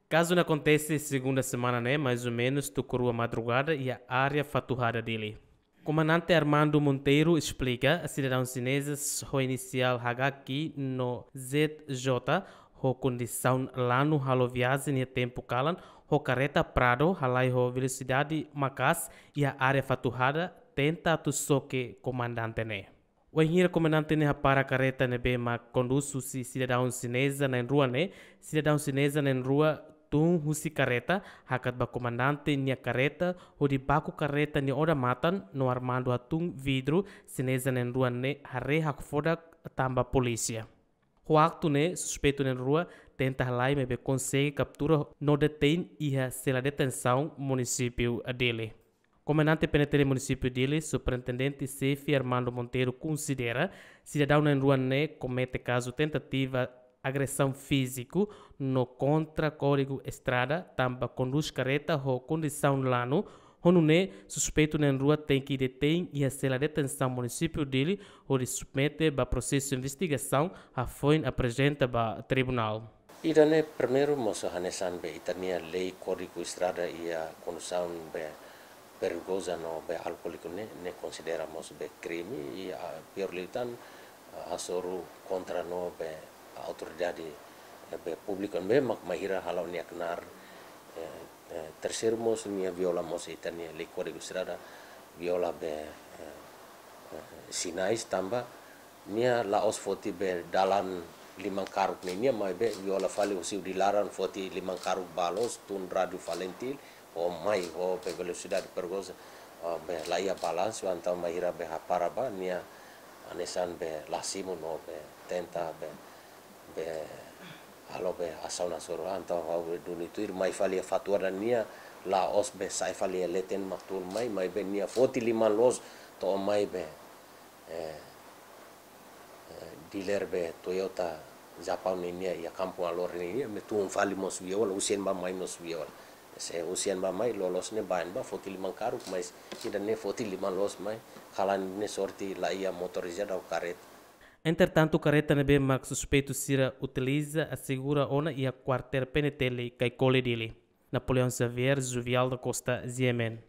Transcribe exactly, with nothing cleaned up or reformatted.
Kazu ne'e akontese segunda semana ne'e, mais ou menus tuku rua madrugada, iha área Fatuhada, Dili. Komandante Armando Monteiro esplika, sidadaun xinezes ho inisiál H Q no Z J ho kondisaun lanu halo viajen iha tempu kalan ho kareta Prado halai ho velosidade maka'as iha área Fatuhada, tenta atu xoke komandante ne'e. Wainhira komandante ne'e hapara kareta ne'ebé mak kondús husi sidadaun xineza na'in-rua ne'e, sidadaun xineza na'in-rua tun husi kareta, hakat ba komandante nia kareta, hodi baku kareta nia odamatan, no Armando hatun vidru, xineza na'in-rua ne'e haree hakfodak tanba polísia. Ho aktu ne'e, suspeitu na'in-rua tenta halai maibé konsege kaptura no detein iha sela detensaun munisípiu Dili. Komandante P N T L munisípiu Dili, Superintendente Xefe Armando Monteiro konsidera, sidadaun na'in-rua ne'e komete kazu tentativa agresaun fíziku no kontra Kódigu Estrada, tanba kondús kareta ho kondisaun lanu, ho nune'e suspeitu na'in-rua tenke detein iha sela detensaun munisípiu Dili, hodi submete ba prosesu investigasaun, hafoin aprezenta ba tribunál. Ida-ne'e primeiru mós hanesan be ita-nia lei Kódigu Estrada iha kondisaun be perigoza no be alkoóliku ne'e, ne'e konsidera mós be krime i, ah, pior liután, ah, hasoru kontra no be autoridade, eh, be públiku ne'ebé mak mai hira hala'o nia knaar, eh, eh, terseiru mós nia viola mós ita-nia lei Kódigu Estrada, viola be, eh, eh, sinais tanba nia la'ós foti be dalan liman karuk ninia maibé viola fali husi udi laran foti liman karuk ba loos tun rádiu Falintil ho mai ho be velosidade perigoza, ah, be la iha balansu entaun mai hira be hapara ba nia hanesan be la simu no be tenta be, be halo be asaun hasoru. Entaun ha'u be duni tuir mai fali iha Fatuhada nia la'ós be sa'e fali iha leten mak tun mai, maibé nia foti liman loos to'o mai be, eh, eh, dealer be Toyota Japaun ninia iha Kampung Alor ninia, ne'e tun fali mós viola, husi ne'ebá mai mós viola. Se husi ne'ebá mai loloos ne'e bá ne'ebá foti liman karuk, mais ida-ne'e foti liman loos mai, kalan ne'e sorte la iha motorizada ou kareta. Entretantu, kareta ne'ebé mak suspeitu sira utiliza asegura ona iha kuartél P N T L Caicoli, Dili. Napoleão Xavier, Juvial da Costa, G M N.